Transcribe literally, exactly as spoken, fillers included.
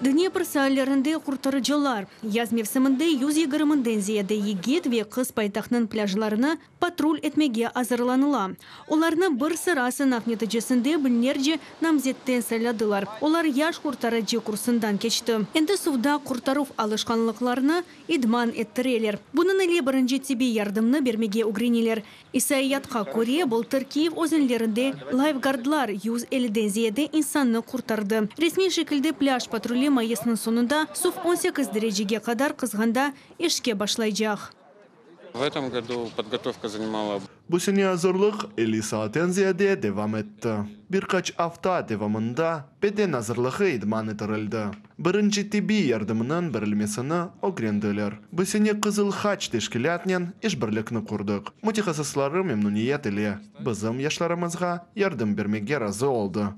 Dnepr saillerinde qurtarıcılar. Yaz mevsiminde yüz yigirmiden ziyade yigit ve qız paytahtnıñ plâjlarını patrul etmege azırlanıla. Olarnı bir sıra sınav neticesinde biñlerce namzetten sayladılar. Olar yaş qurtarıcı kursından keçti. Endi suvda qurtaruv alışqanlıqlarını idman ettireler. Bunıñ ile birinci tibbiy yardımnı bermege ögreneler. İsaiyatqa köre, bıltır Kiyev özenlerinde layfgardlar yüz elliden ziyade insannı qurtardı. Resmiy şekilde plâj patruli mayısnıñ soñunda suv on sekiz derecege qadar qızğanda işke başlaycaq. В этом году подготовка занимала Bu sene azırlıq elli saatten ziyade devam etti. Bir qaç afta devamında beden azırlığı idman ettirildi. Birinci tibbiy yardımınıñ berilmesini ögrendiler. Bu sene Qızıl Haç teşkilâtnen işbirlikni qurdıq. Mütehassısları memnüniyet ile bizim yaşlarımızğa yardım bermege razı oldı.